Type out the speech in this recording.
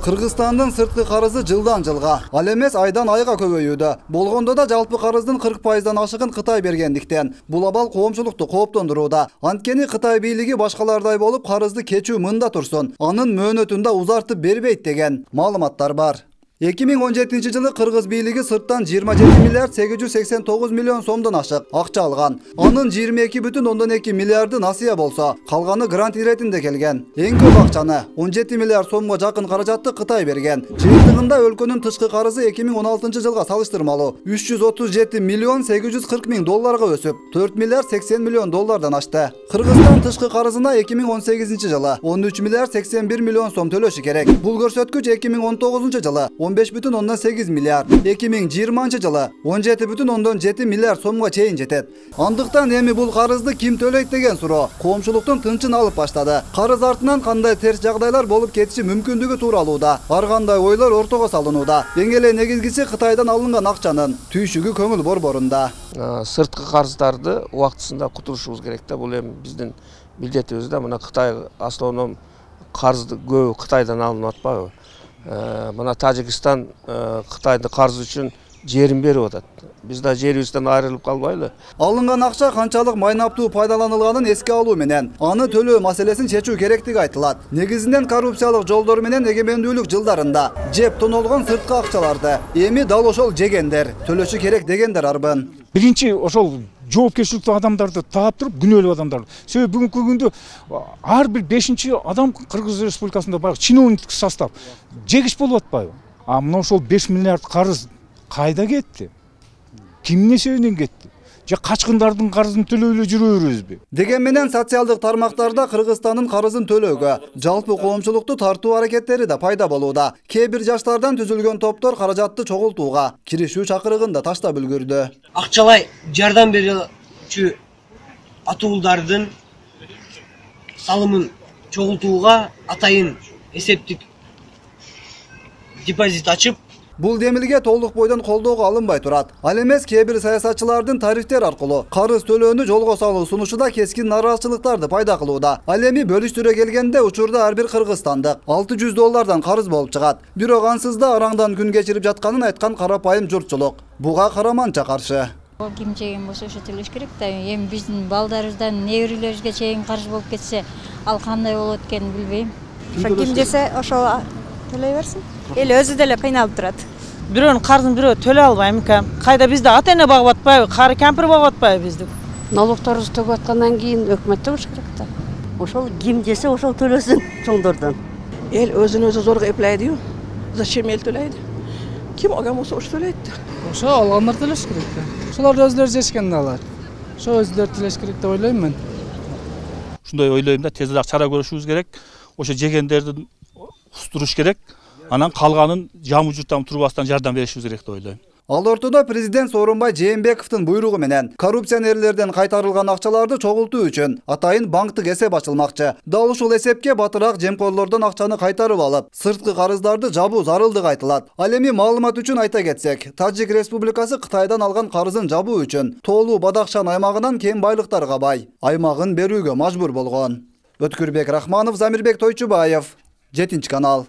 Кыргызстандын сырткы карызы жылдан жылга, ал эмес айдан айга көбөйүүдө. Болгондо да жалпы карыздын 40%дан ашыгын Кытай бергендиктен, бул абал коомчулукту кооптондурууда. Анткени Кытай бийлиги башкалардай болуп карызды кечүү мында турсун, анын мөөнөтүн да узартып бербейт деген маалыматтар бар. 2017 жылы Кыргыз бийлиги сырттан 27 миллиард 889 миллион сомдон ашык акча алган. Анын 22,2 миллиарды насыя болсо, калганы грант иретинде келген. Эң көп акчаны 17 миллиард сомго жакын каражатты Кытай берген. Жыйынтыгында өлкөнүн тышкы карызы 2016 жылга салыштырмалуу 337 миллион 840 миң долларга өсүп, 4 миллиард 80 миллион доллардан ашты. Кыргызстан тышкы карызына 2018 жылы 13 миллиард 81 миллион сом төлөшү керек. Бул көрсөткүч 2019 жылы 15,8 миллиард, 2020 жылы 17,7 миллиард сомго чейин жетет. Андыктан эми бул карызды ким төлөйт деген суроо коомчулуктун тынчын алып баштады. Карыз артынан кандай терс жагдайлар болуп кетиши мүмкүндүгү тууралууда ар кандай ойлор ортого салынууда. Эң эле негизгиси Кытайдан алынган акчанын түйшүгү көңүл борборунда. Сырткы карыздарды убактысында кутурушубуз керек да. Бул эми биздин милдетибиз да. Мына Кытай основном карызды көбү Кытайдан алынып атпайбы? Мына Тажикстан Кытайдын карызы үчүн жерин берип атат. Биз да жерибизден айрылып калбайлы. Алынган акча канчалык майнаптуу пайдаланылганын эске алуу менен аны төлөө маселесин чечүү керектиги айтылат. Негизинен коррупциялык жолдор менен эгемендүүлүк жылдарында жеп тонолгон сырткы акчаларды эми дал ошол жегендер төлөшү керек дегендер арбын. Биринчи ошол жоопкерчиликтүү адамдарды таап туруп күнөөлүү адамдар. Себеби бүгүнкү күндө ар бир 5-чи адам Кыргыз Республикасында баягы чиновниктик состав жегич болуп атпайбы? А мына ошол 5 миллиард карыз кайда кетти? Кимдин эсебинен кетти? Же качкындардын карызын төлөй эле жүрө беребизби? Деген менен социалдык тармактарда Кыргызстандын карызын төлөөгө жалпы коомчулукту тартуу аракеттери да пайда болууда. Кээ бир жаштардан түзүлгөн топтор каражатты чогултууга киришүү чакырыгын да таштап үлгүрдү. Акчалай жардам берүүчү атуулдардын салымын чогултууга атайын эсептик депозит ачып, Бул демилге толук бойдон колдоого алынбай турат. Ал эмес кээ бир саясатчылардын тарифтер аркылуу карыз төлөөнү жолго салуу сунушу да кескин нараазачылыктарды пайда кылууда. Ал эми бөлүштүрө келгенде учурда ар бир кыргызстандык 600 доллардан карыз болуп чыгат. Бирок ансыз да араңдан күн кечирип жатканын айткан карапайым журтчулук буга караманча каршы. Ким жеген болсо ошо төлөш керек да. Эми биздин балдарыбыздан неберелерибизге чейин карыз болуп кетсе, ал кандай болот экенин билбейм. Ким жесе ошол төлөй берсин. Эл өзү деле кыйналып турат. Бирөөнүн карызын бирөө төлөй албайм экен. Кайда бизде ата эне багып атпайбы, кары кемпир багып атпайбы бизди? Налогторубузду төгүп аткандан кийин өкмөт төбүш керек да. Ошол ким жесе ошол төлөсүн чоңдордон. Эл өзүн өзү зорго эплейди. Зачем эл төлөйдү? Ким алган болсо ошо төлөйт да. Ошо алгандар төлөш керек да. Ошолор өзүлөрү жешкен да алар. Ошо өзүлөрү төлөш керек деп ойлойм мен. Ушундай ойлойм да, тезирээк чара көрүшүбүз керек. Ошо жегендерди устуруш керек. Анан калганын жамы журттан турбастан жардам беришибиз керек деп ойлойм. Ал ортодо президент Сооронбай Жээнбековдун буйругу менен коррупционерлерден кайтарылган акчаларды чогултуу үчүн атайын банктык эсеп ачылмакчы. Дал ушул эсепке батыраак жемкорлордон акчаны кайтарып алып, сырткы карыздарды жабуу зарылдыгы айтылат. Ал эми маалымат үчүн айта кетсек, Тажик Республикасы Кытайдан алган карызын жабуу үчүн Тоолуу Бадахшан аймагынан кен байлыктарга бай аймагын берүүгө мажбур болгон. Өткүрбек Рахманов, Замирбек Тойчубаев, 7 канал.